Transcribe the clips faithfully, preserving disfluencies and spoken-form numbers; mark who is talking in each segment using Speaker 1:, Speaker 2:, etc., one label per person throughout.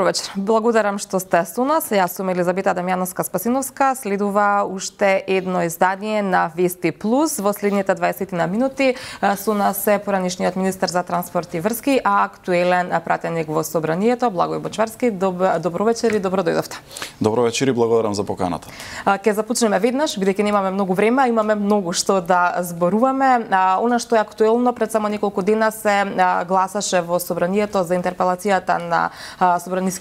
Speaker 1: Добро вечер. Благодарам што сте со нас. Јас сум Елизабета Дамјановска-Спасиновска. Следува уште едно издание на Вести Плюс. Во следните дваесет на минути со нас е поранишниот министер за транспорт и врски, а актуелен пратеник во собранието Благој Бочварски. Доб... Добро вечер и добро дојдовте.
Speaker 2: Добро вечер и благодарам за поканата.
Speaker 1: Ке започнеме веднаш, бидејќи немаме многу време, имаме многу што да зборуваме. Она што е актуелно, пред само неколку дена се гласаше во собранието за интерпелацијата на собранискиот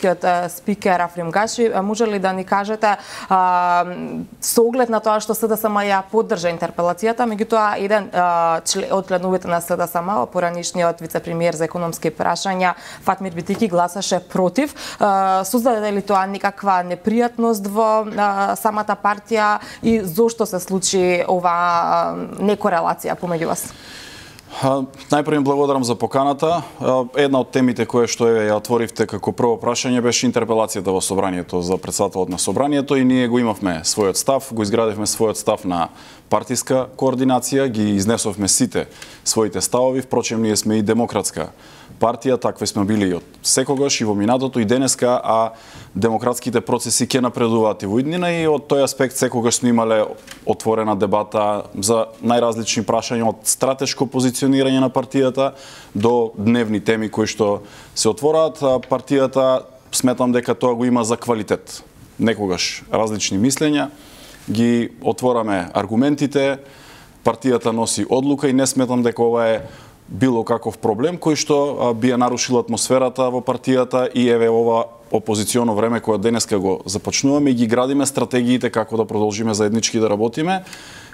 Speaker 1: спикер Африм Гаши. Може ли да ни кажете, а, со оглед на тоа што СДСМ ја поддржа интерпелацијата, меѓутоа еден а, член, од членовите на СДСМ, поранишниот вице-премиер за економски прашања Фатмир Битики гласаше против. А, создаде ли тоа никаква непријатност во а, самата партија и зошто се случи ова некорелација помеѓу вас?
Speaker 2: Најпрво им благодарам за поканата. Една од темите која што ја отворивте како прво прашање беше интерпелацијата во собранието за претседателот на собранието и ние го имавме својот став, го изградивме својот став на партиска координација, ги изнесовме сите своите ставови, впрочем ние сме и демократска партија, такви сме били и од секогаш и во минатото и денеска, а демократските процеси ќе напредуваат и во иднина и од тој аспект секогаш сме имале отворена дебата за најразлични прашања од стратешко позиционирање на партијата до дневни теми кои што се отвораат. Партијата сметам дека тоа го има за квалитет. Некогаш различни мислења, ги отвораме аргументите, партијата носи одлука и не сметам дека ова е било каков проблем кој што би ја нарушил атмосферата во партијата и еве ова опозиционо време кое денеска го започнуваме и ги градиме стратегиите како да продолжиме заеднички да работиме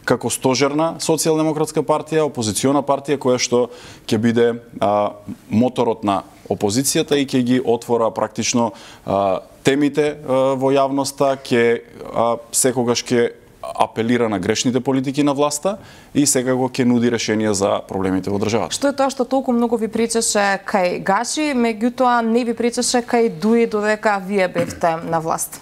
Speaker 2: како стожерна социјалдемократска партија, опозициона партија која што ќе биде а, моторот на опозицијата и ќе ги отвора практично а, темите а, во јавноста, ќе а, секогаш ќе апелира на грешните политики на власта и секако ќе нуди решенија за проблемите во државата.
Speaker 1: Што е тоа што толку многу ви пречеше кај Гаши, меѓутоа не ви пречеше кај Дуи додека вие бевте на власт?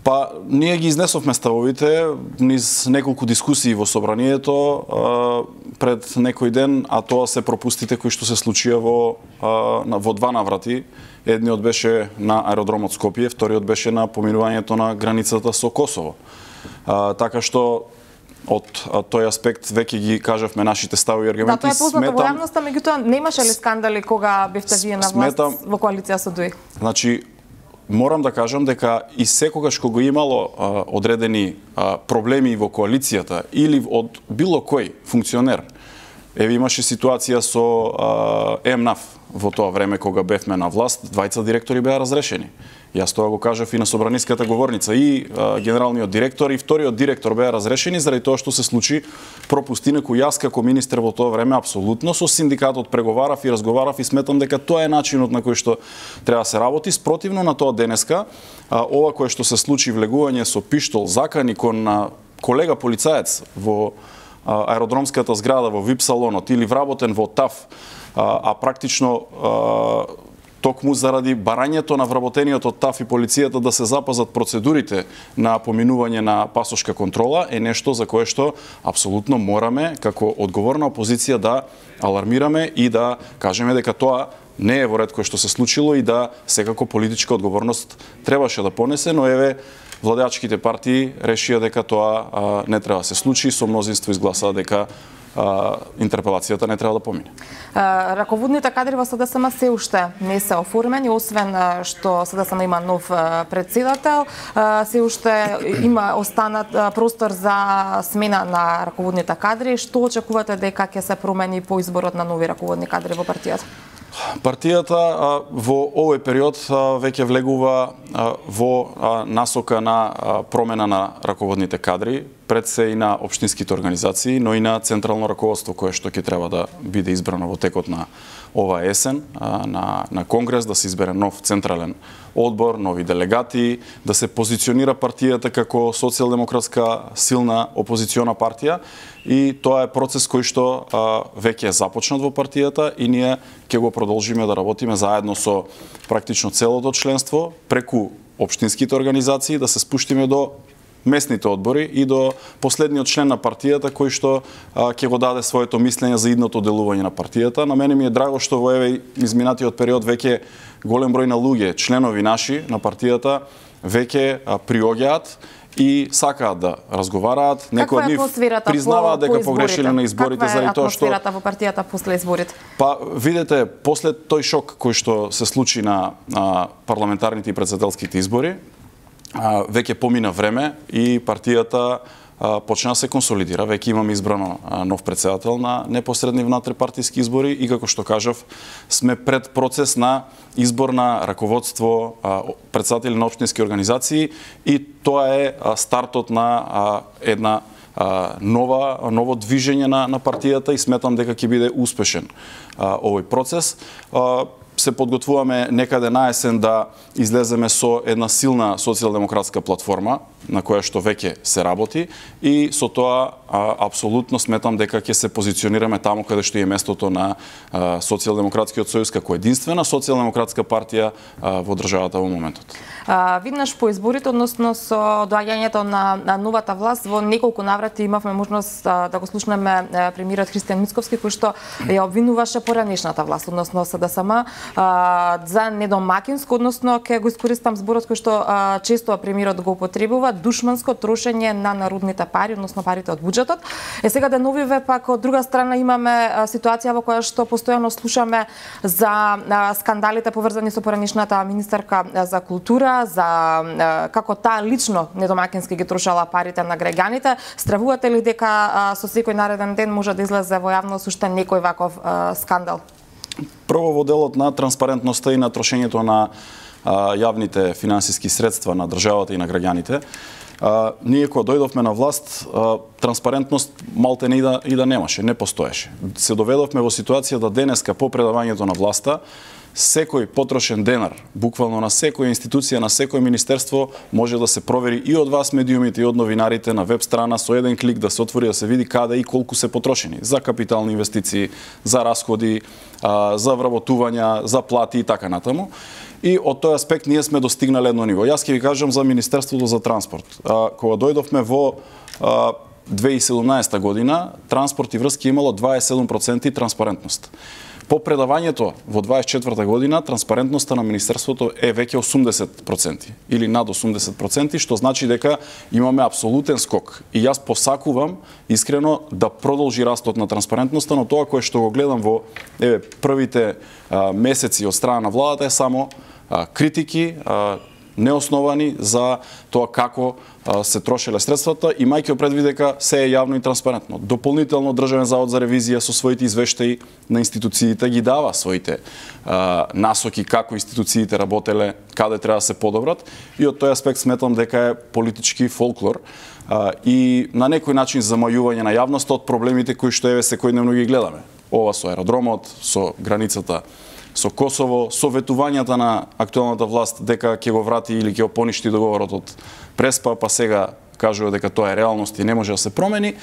Speaker 2: Па, ние ги изнесовме ставовите низ неколку дискусии во собранието а, пред некој ден, а тоа се пропустите кои што се случија во, а, во два наврати. Едниот беше на аеродромот Скопје, вториот беше на поминувањето на границата со Косово. А, така што од а, тој аспект веќе ги кажавме нашите ставови и аргументи.
Speaker 1: Да, тоа е познато во јавноста, меѓутоа немаше ли скандали кога бевте вие на власт сметам, во коалиција со Дуи?
Speaker 2: Значи, морам да кажам дека и секогаш кога имало а, одредени а, проблеми во коалицијата или од било кој функционер, еве имаше ситуација со а, ЕМНАФ во тоа време кога бевме на власт, двајца директори беа разрешени. Јас тоа го кажав и на собраниската говорница, и а, генералниот директор и вториот директор беа разрешени заради тоа што се случи пропусти на кој јас како министер во тоа време апсолутно со синдикатот преговарав и разговарав и сметам дека тоа е начинот на кој што треба да се работи. Спротивно на тоа денеска, а, ова кое што се случи влегување со пиштол, закани кон на колега полицаец во а, аеродромската зграда во вип салонот или вработен во ТАФ, а, а практично а, токму заради барањето на вработениот од ТАФ и полицијата да се запазат процедурите на поминување на пасошка контрола е нешто за кое што апсолутно мораме како одговорна опозиција да алармираме и да кажеме дека тоа не е во ред кое што се случило и да секако политичка одговорност требаше да понесе, но еве владеачките партии решија дека тоа а, не треба да се случи, со мнозинство изгласаа дека Uh, интерпелацијата не треба да помине.
Speaker 1: Uh, раководните кадри во СДСМ се уште не се оформени, освен uh, што СДСМ има нов uh, председател, uh, се уште има останат uh, простор за смена на раководните кадри. Што очекувате дека ќе се промени по изборот на нови раководни кадри во партијата?
Speaker 2: Партијата а, во овој период а, веќе влегува а, во а, насока на а, промена на раководните кадри, пред се и на општинските организации, но и на централно раководство кое што ќе треба да биде избрано во текот на ова есен, а, на, на Конгрес, да се избере нов централен одбор, нови делегати, да се позиционира партијата како социјалдемократска силна опозициона партија и тоа е процес кој што а, веќе е започнат во партијата и ние ќе го продолжиме да работиме заедно со практично целото членство преку општинските организации да се спуштиме до месните одбори и до последниот член на партијата кој што ќе го даде своето мислење за идното делување на партијата. На мене ми е драго што во еве изминатиот период веќе голем број на луѓе, членови наши на партијата, веќе приоѓаат и сакаат да разговараат. Некои од нив признаваат дека погрешиле на изборите заради тоа што
Speaker 1: атмосферата во партијата после изборите?
Speaker 2: Па видете, после тој шок кој што се случи на а, парламентарните и претседателските избори, а, веќе помина време и партијата а, почна да се консолидира. Веќе имаме избрано а, нов претседател на непосредни внатре-партиски избори и како што кажав, сме пред процес на избор на раководство, а, претседатели на општински организации и тоа е а, стартот на а, една а, нова ново движење на на партијата и сметам дека ќе биде успешен а, овој процес. А, се подготвуваме некаде на есен да излеземе со една силна социјалдемократска платформа на која што веќе се работи и со тоа а, апсолутно сметам дека ќе се позиционираме таму каде што е местото на а, Социјалдемократскиот сојуз како единствена социјалдемократска партија а, во државата во моментот.
Speaker 1: А, виднаш по изборите, односно со доаѓањето на, на новата власт, во неколку наврати имавме можност а, да го слушнеме премиерот Христијан Мицковски, кој што ја обвинуваше поранешната власт, односно СДСМ, а, за недомакинско, односно ќе го искористам зборот кој што а, често премиерот го употребува, душманско трошење на народните пари, односно парите од буџетот. Е сега деновиве пак од друга страна имаме а, ситуација во која што постојано слушаме за а, скандалите поврзани со поранешната министерка а, за култура, за а, како таа лично недомакински ги трошала парите на граѓаните. Стравувате ли дека а, со секој нареден ден може да излезе во јавност уште некој ваков а, скандал?
Speaker 2: Прво во делот на транспарентноста и на трошењето на а, јавните финансиски средства на државата и на граѓаните. А, ние кога дојдовме на власт, а, транспарентност малте не и да, и да немаше, не постоеше. Се доведовме во ситуација да денеска по предавањето на власта секој потрошен денар, буквално на секоја институција, на секој министерство, може да се провери и од вас медиумите и од новинарите на веб страна со еден клик да се отвори да се види каде и колку се потрошени за капитални инвестиции, за расходи, за вработувања, за плати и така натаму. И од тој аспект ние сме достигнале едно ниво. Јас ќе ви кажам за Министерството за транспорт. Кога дојдовме во две илјади и седумнаесета година, транспорт и врски имало дваесет и седум проценти транспарентност. По предавањето во дваесет и четврта година транспарентноста на Министерството е веќе осумдесет проценти или над осумдесет проценти, што значи дека имаме апсолутен скок. И јас посакувам искрено да продолжи растот на транспарентноста, но тоа кое што го гледам во еве првите а, месеци од страна на владата е само а, критики, а, неосновани за тоа како а, се трошеле средствата, имајќи предвид дека се е јавно и транспарентно. Дополнително Државен завод за ревизија со своите извештаи на институциите ги дава своите а, насоки како институциите работеле, каде треба да се подобрат и од тој аспект сметам дека е политички фолклор а, и на некој начин замајување на јавноста од проблемите кои што еве секојдневно ги гледаме. Ова со аеродромот, со границата со Косово, со ветувањата на актуелната власт дека ќе го врати или ќе го поништи договорот од Преспа, па сега кажува дека тоа е реалност и не може да се промени.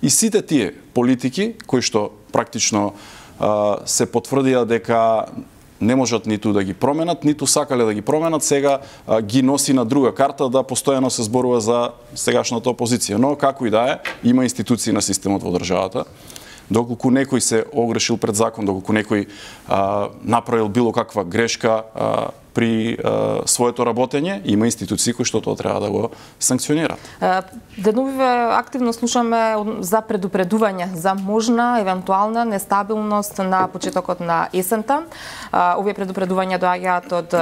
Speaker 2: И сите тие политики кои што практично а, се потврдија дека не можат ниту да ги променат, ниту сакале да ги променат, сега а, ги носи на друга карта да постојано се зборува за сегашната опозиција. Но како и да е, има институции на системот во државата. Доколку некој се огрешил пред закон, доколку некој а, направил било каква грешка а, при а, своето работење, има институции кои што тоа треба да го санкционираат.
Speaker 1: Деновиве активно слушаме за предупредување за можна евентуална нестабилност на почетокот на есента. Овие предупредувања доаѓаат од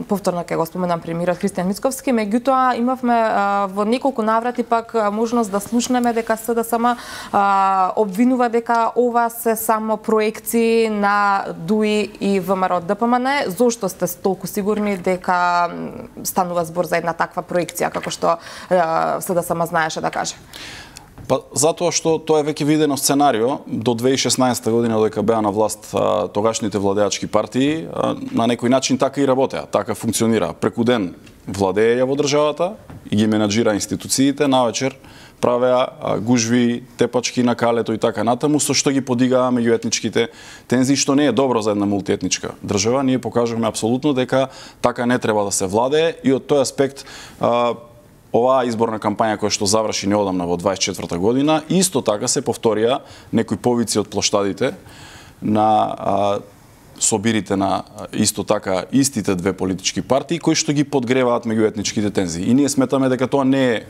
Speaker 1: повторно ќе го споменам премиерот Христијан Мицковски, меѓутоа имавме во неколку наврати пак можност да слушнеме дека СДСМ обвинува дека ова се само проекции на ДУИ и ВМРО ДПМН. Зошто сте толку сигурни дека станува збор за една таква проекција, како што СДСМ знаеше да каже?
Speaker 2: Па затоа што тоа е веќе видено сценарио до две илјади и шеснаесета година додека беа на власт а, тогашните владеачки партии, а, на некој начин така и работеа, така функционира. Преку ден владееја во државата и ги менаџира институциите, навечер правеа гужви, тепачки на калето и така натаму, со што ги подигаа меѓуетничките тензии, што не е добро за една мултиетничка држава. Ние покажавме апсолутно дека така не треба да се владее и од тој аспект а, оваа изборна кампања која што заврши неодамна во дваесет и четврта година, исто така се повторија некои повици од плоштадите на а, собирите на исто така истите две политички партии кои што ги подгреваат меѓуетничките тензии. И ние сметаме дека тоа не е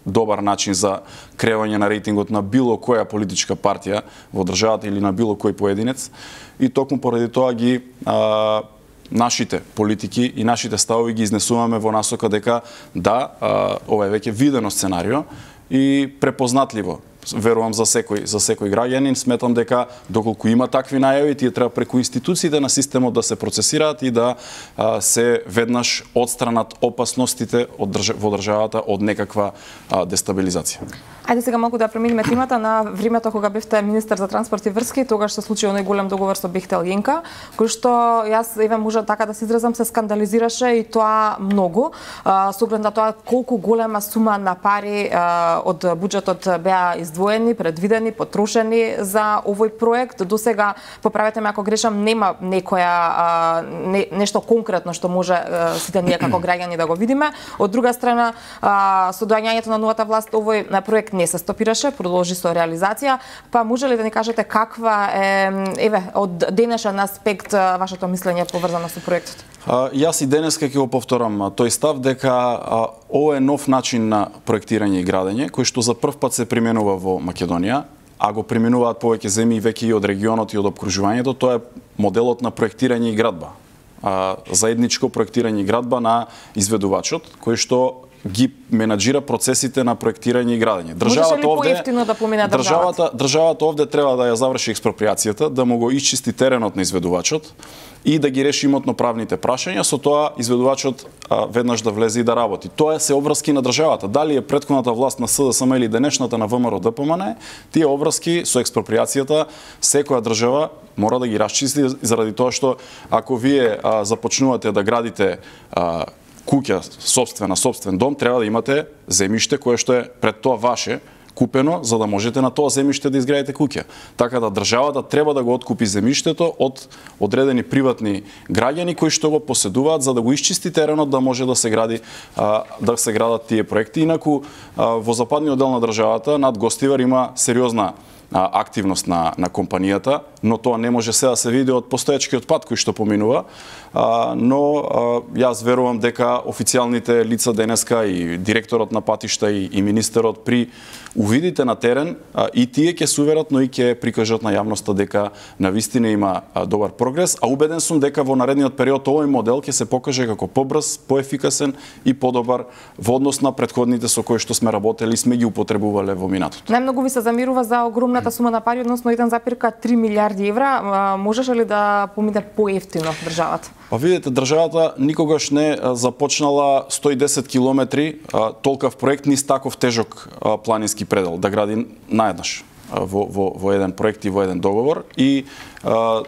Speaker 2: добар начин за креање на рейтингот на било која политичка партија во државата или на било кој поединец. И токму поради тоа ги а, нашите политики и нашите ставови ги изнесуваме во насока дека да, а, ова е веќе видено сценарио и препознатливо. Верувам за секој за секој граѓанин, сметам дека доколку има такви најави, тие треба преку институциите на системот да се процесираат и да а, се веднаш одстранат опасностите од држ... во државата од некаква а, дестабилизација.
Speaker 1: Ајде сега малку да преминеме темата на времето кога бевте министер за транспорт и врски, тогаш се случи оној голем договор со Бехтел Јенка, кој што јас еве може така да се изразам се скандализираше и тоа многу, со оглед на тоа колку голема сума на пари а, од буџетот беа издвоени, предвидени, потрошени за овој проект. До сега, поправете ме ако грешам, нема некоја а, не, нешто конкретно што може а, сите ние како граѓани да го видиме. Од друга страна, а, со доаѓањето на новата власт овој на проект не се стопираше, продолжи со реализација. Па може ли да ни кажете каква е еве од денешен аспект вашето мислење поврзано со проектот?
Speaker 2: А, јас и денеска ќе го повторам тој став дека а, ова е нов начин на проектирање и градење кој што за прв пат се применува во Македонија, а го применуваат повеќе земји веќе и од регионот и од опкружувањето. Тоа е моделот на проектирање и градба. А, заедничко проектирање и градба на изведувачот кој што ги менаџира процесите на проектирање и градење.
Speaker 1: Државата овде да помине
Speaker 2: државата државата овде треба да ја заврши експроприацијата, да му го исчисти теренот на изведувачот и да ги реши имотно-правните прашања, со тоа изведувачот а, веднаш да влезе и да работи. Тоа се обврски на државата. Дали е претходната власт на СДСМ или денешната на ВМРО Д П М Н, тие обврски со експроприацијата секоја држава мора да ги расчисти заради тоа што ако вие а, започнувате да градите а, куќа, собствена, собствен дом, треба да имате земјиште кое што е пред тоа ваше, купено, за да можете на тоа земјиште да изградите куќа. Така да државата треба да го откупи земјиштето од одредени приватни граѓани кои што го поседуваат за да го исчисти теренот да може да се гради а, да се градат тие проекти. Инаку а, во западниот дел на државата над Гостивар има сериозна активност на, на компанијата, но тоа не може се да се види од постоечкиот пат кој што поминува, а, но а, јас верувам дека официјалните лица денеска и директорот на патишта и, и министерот при увидите на терен а, и тие ќе се уверат, но и ќе прикажат на јавноста дека навистина има а, добар прогрес, а убеден сум дека во наредниот период овој модел ќе се покаже како побрз, поефикасен и подобар во однос на претходните со кои што сме работели и сме ги употребувале во минатото.
Speaker 1: Најмногу ви се замирува за огромната сума на пари, односно еден запир три милиарди евра. Можеше ли да помине поевтино државата?
Speaker 2: Па видите, државата никогаш не започнала сто и десет километри толкав проект низ таков тежок планински предел да гради наеднаш во, во, во еден проект и во еден договор. И а,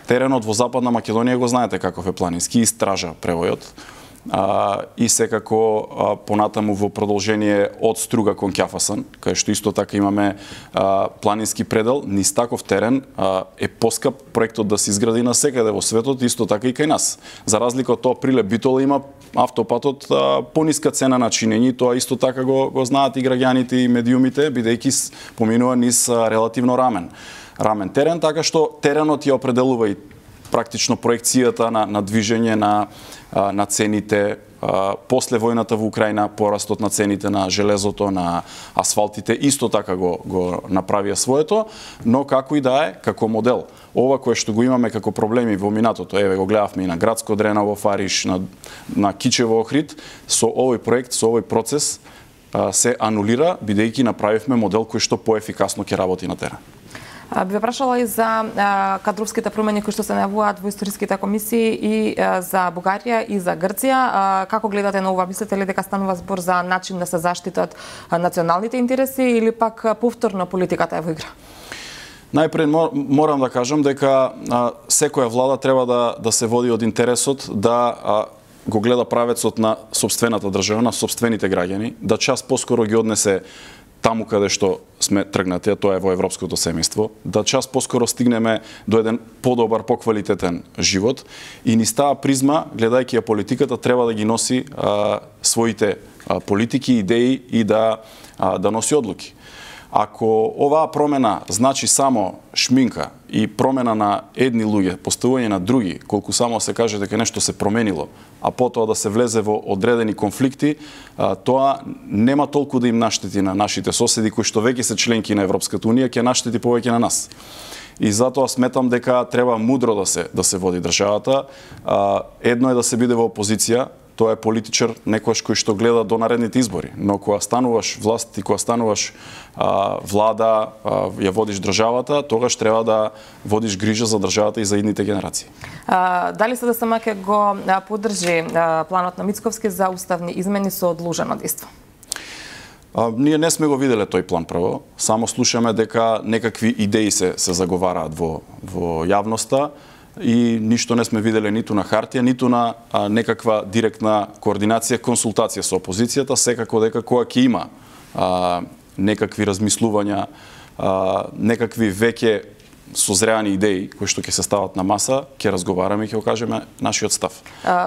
Speaker 2: теренот во Западна Македонија го знаете каков е планински, истража превојот. А, и секако а, понатаму во продолжение од Струга кон Ќафасан, кај што исто така имаме а, планински предел, низ таков терен а, е поскап проектот да се изгради на секаде во светот, исто така и кај нас. За разлика од тоа, Прилеп Битола има автопатот а, пониска цена на чинење, тоа исто така го, го знаат и граѓаните и медиумите, бидејќи поминува низ а, релативно рамен. Рамен терен, така што теренот ја определува и практично проекцијата на, на движење на, на цените. После војната во Украина, порастот на цените на железото, на асфалтите, исто така го, го направија своето, но како и да е, како модел. Ова кое што го имаме како проблеми во минатото, еве го гледавме и на Градско Дрена во Фариш, на, на Кичево Охрид, со овој проект, со овој процес се анулира, бидејќи направивме модел кој што поефикасно ќе работи на терен.
Speaker 1: Би ве прашала и за а, кадровските промени кои што се најавуваат во историските комисии и а, за Бугарија и за Грција. А, како гледате на ова? Мислите ли дека станува збор за начин да се заштитат а, националните интереси или пак а, повторно политиката е во игра?
Speaker 2: Најпред морам да кажам дека а, секоја влада треба да, да се води од интересот да а, го гледа правецот на сопствената држава, на сопствените граѓани, да час поскоро ги однесе таму каде што сме тргнати, а тоа е во европското семејство, да час поскоро стигнеме до еден подобар, поквалитетен живот и низ таа призма, гледајќи ја политиката, треба да ги носи а, своите а, политики, идеи и да, а, да носи одлуки. Ако оваа промена значи само шминка и промена на едни луѓе, поставување на други, колку само се каже дека нешто се променило, а потоа да се влезе во одредени конфликти, тоа нема толку да им наштети на нашите соседи кои што веќе се членки на Европската унија, ќе наштети повеќе на нас. И затоа сметам дека треба мудро да се да се води државата. Едно е да се биде во опозиција, тоа е политичар некојаш кој што гледа до наредните избори, но кога стануваш власт и кога стануваш а, влада, а, ја водиш државата, тогаш треба да водиш грижа за државата и за идните генерации.
Speaker 1: А, дали СДСМ ќе го поддржи а, планот на Мицковски за уставни измени со одложено дејство?
Speaker 2: А, ние не сме го виделе тој план прво, само слушаме дека некакви идеи се се заговараат во во јавноста. И ништо не сме виделе ниту на хартија, ниту на а, некаква директна координација, консултација со опозицијата, секако дека кога ќе има а, некакви размислувања, а, некакви веќе созреани идеи кои што ќе се стават на маса, ќе разговараме и ќе кажеме нашиот став.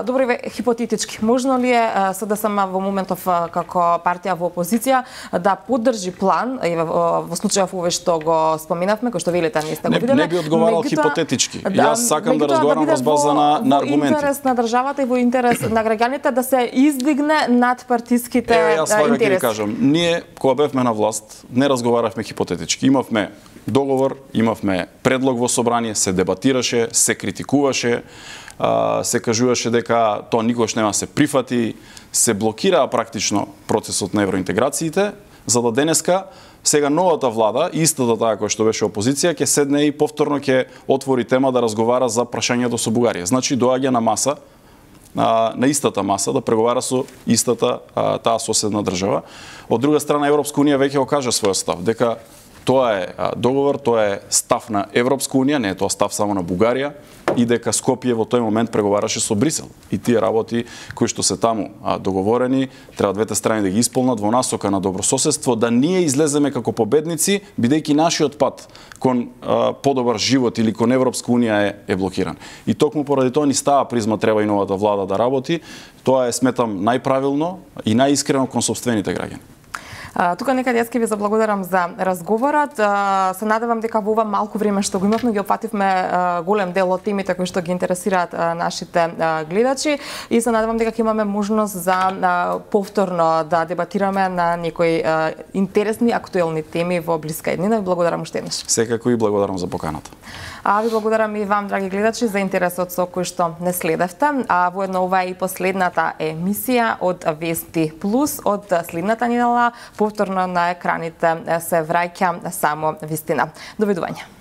Speaker 1: Добро, еве хипотетички, можно ли е СДСМ во моментов како партија во опозиција да поддржи план, еве во случајов овој што го споменавме, кој што велите не сте го виделе?
Speaker 2: Не, не би одговарал хипотетички. Да, Јас сакам да разговарам врз база на, на аргументи. Во
Speaker 1: интерес на државата и во интерес на граѓаните да се издигне над партиските
Speaker 2: е, јас
Speaker 1: интереси.
Speaker 2: Јас ќе кажам, ние кога бевме на власт не разговаравме хипотетички. Имавме договор, имавме предлог во собрание, се дебатираше, се критикуваше, се кажуваше дека тоа никогаш нема се прифати, се блокираа практично процесот на евроинтеграциите, за да денеска сега новата влада, истата таа која што беше опозиција, ќе седне и повторно ќе отвори тема да разговара за прашањето со Бугарија. Значи доаѓа на маса, на истата маса да преговара со истата таа соседна држава. Од друга страна Европска унија веќе го кажа својот став дека тоа е договор, тоа е став на Европска унија, не е тоа став само на Бугарија, и дека Скопје во тој момент преговараше со Брисел. И тие работи кои што се таму а, договорени, треба двете страни да ги исполнат во насока на добрососедство, да ние излеземе како победници, бидејќи нашиот пат кон а, подобар живот или кон Европска унија е, е блокиран. И токму поради тоа ни става призма треба и новата влада да работи. Тоа е, сметам, најправилно и најискрено кон сопствените граѓани.
Speaker 1: Тука некаде јас ќе ви заблагодарам за разговорот. Се надевам дека во ова малку време што го имавме ги опфативме голем дел од темите кои што ги интересираат нашите гледачи и се надевам дека ќе имаме можност за повторно да дебатираме на некои интересни актуелни теми во блиска иднина. Ви благодарам уште еднаш.
Speaker 2: Секако и благодарам за поканата.
Speaker 1: А ви благодарам и вам, драги гледачи, за интересот со кој што не следевте. А воедно ова е и последната емисија од Вести Плюс од следната недела. Повторно на екраните се враќа само вистина. Довидување.